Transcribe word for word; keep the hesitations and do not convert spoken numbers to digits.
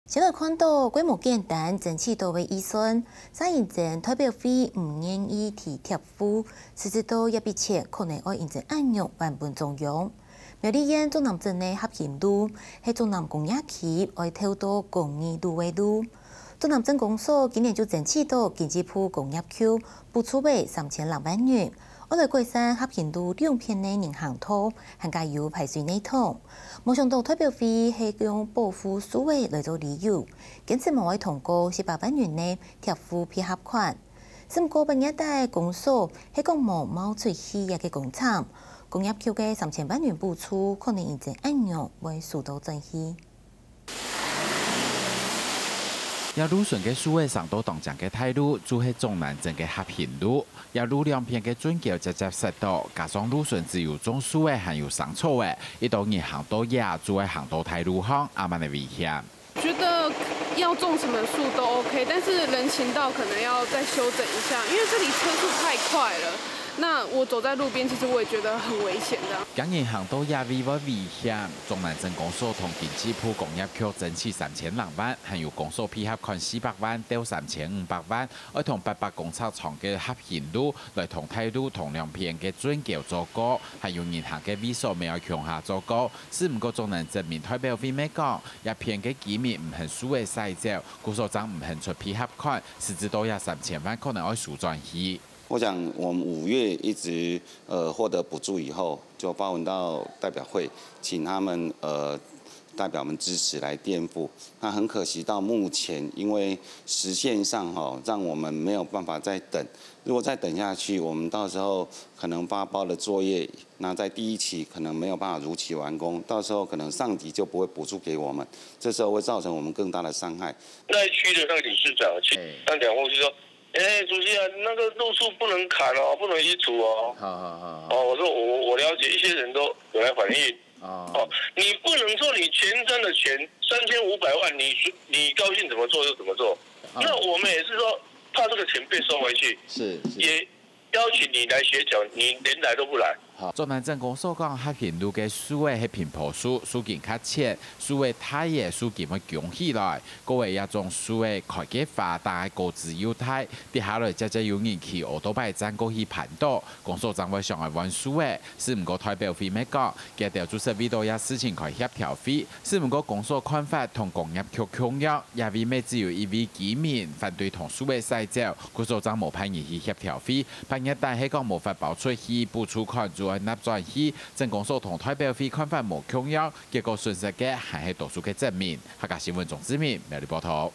先來看到規模簡單爭取到个預算，煞因爭代表會毋願意提貼付，實質到這筆錢可能愛因爭恁樣還分中央。苗栗縣竹南鎮个合興路，係竹南工業區愛調到公益路个路。竹南鎮公所今年就爭取到經濟部工業局補助个三千零萬元，愛來改善合興路兩片个人行道，還加有排水系統。無想到代表會係用保護樹仔來做理由，堅持無愛通過四百萬元个貼付配合款。毋過八月底公所係講無冒出去這个工程，工業局个三千萬元補助可能因爭恁樣會收到轉去。這路脣个樹仔生到當靚个大路，就係竹南鎮个合興路。這路兩片个圳溝直直塞到，加上路脣只有種樹仔還有生草仔，一到人行到這，就會行到大路項，恁樣个危險。覺得要種什麼樹都 OK，但是人行道可能要再修整一下，因為這裡車速太快了。那我走在路邊，其實我也覺得很危險的。驚人行到這位會危險，竹南鎮公所同經濟部工業局爭取三千零萬，還有公所配合款四百萬到三千五百萬，愛同八百公尺長个合興路來同大路同兩片个圳溝做過，還有人行个位所乜愛共下做過。 毋過竹南鎮民代表會乜講，這片个居民毋肯樹仔徙走，故所正毋肯出配合款，實質到這三千萬可能愛收轉去。我想我們五月一直呃獲得補助以後，就發文到代表會，請他們呃代表們支持來墊付。那很可惜，到目前因為時限上哈，讓我們沒有辦法再等。如果再等下去，我們到時候可能發包的作業 那在第一期可能沒有辦法如期完工，到時候可能上級就不會補助給我們，這時候會造成我們更大的傷害。那一區的那個理事長，那兩戶就說：「哎，主席啊，那個路樹不能砍哦，不能移除哦。」好好好。哦，我說我我了解，一些人都有來反映。哦，你不能說你前瞻的錢三千五百萬，你你高興怎麼做就怎麼做。那我們也是說，怕這個錢被收回去，是是。也 邀請你來協調，你連來都不來。好，竹南鎮公所講，合興路个樹仔係平埔樹，樹根較淺，樹仔大了，樹根會弓起來。過仔這種樹仔開个花，打个果子又大，跌下來，接接有人騎奧多拜輾過去攀倒，公所正會想愛換樹仔。毋過代表會乜講，佢兜就係為著這事情開協調會， 毋過公所看法同工業局共樣，這位乜只有一位居民反對同樹仔徙走，故所正無派人去協調會。八月底係講無法包出去，補助款就愛納轉去，鎮公所同代表會看法無共樣，結果損失个還係多數个鎮民。客家新聞鍾志明，苗栗報導。